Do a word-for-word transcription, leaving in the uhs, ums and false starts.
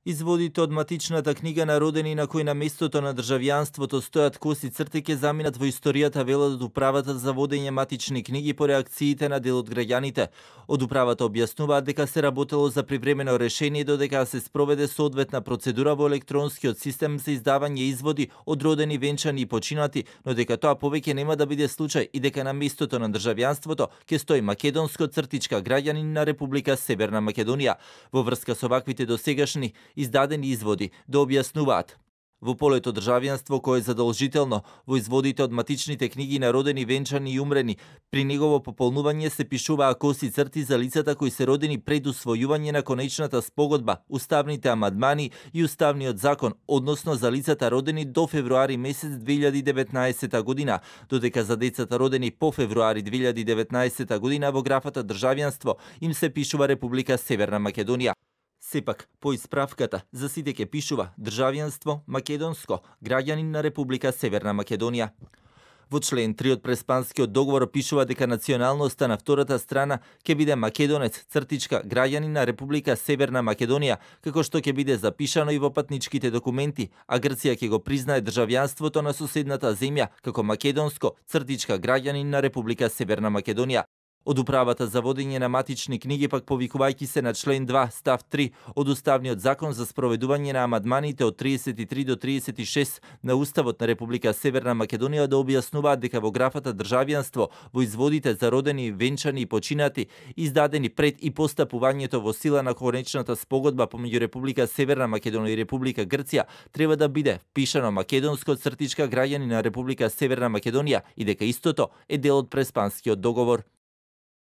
Изводите од матичната книга на родени на кои на местото на државјанството стојат коси црти ќе заминат во историјата, велат од управата за водење матични книги по реакциите на дел од граѓаните. Од управата објаснуваат дека се работело за привремено решение додека се спроведе соодветна процедура во електронскиот систем за издавање изводи од родени, венчани и починати, но дека тоа повеќе нема да биде случај и дека на местото на државјанството ќе стои македонско цртичка граѓанин на Република Северна Македонија. Во врска со ваквите досегашни издадени изводи да објаснуваат. Во полето државјанство кое е задолжително, во изводите од матичните книги на родени, венчани и умрени, при негово пополнување се пишуваа коси црти за лицата кои се родени пред усвојување на конечната спогодба, уставните амандмани и уставниот закон, односно за лицата родени до февруари месец две илјади и деветнаесета година, додека за децата родени по февруари две илјади и деветнаесета година во графата државјанство им се пишува Република Северна Македонија. Сепак, по исправката, за сите ќе пишува државјанство македонско, граѓанин на Република Северна Македонија. Во член три од Преспанскиот договор пишува дека националноста на втората страна ќе биде македонец, цртичка, граѓанин на Република Северна Македонија, како што ќе биде запишано и во патничките документи, а Грција ќе го признае државјанството на соседната земја како македонско, цртичка, граѓанин на Република Северна Македонија. Од управата за водење на матични книги пак повикувајќи се на член два став три од Уставниот закон за спроведување на амандманите од тридесет и три до тридесет и шест на Уставот на Република Северна Македонија да објаснуваат дека во графата државјанство во изводите за родени, венчани и починати издадени пред и постапувањето во сила на конечната спогодба помеѓу Република Северна Македонија и Република Грција треба да биде впишано македонско цртичка граѓани на Република Северна Македонија и дека истото е дел од Преспанскиот договор.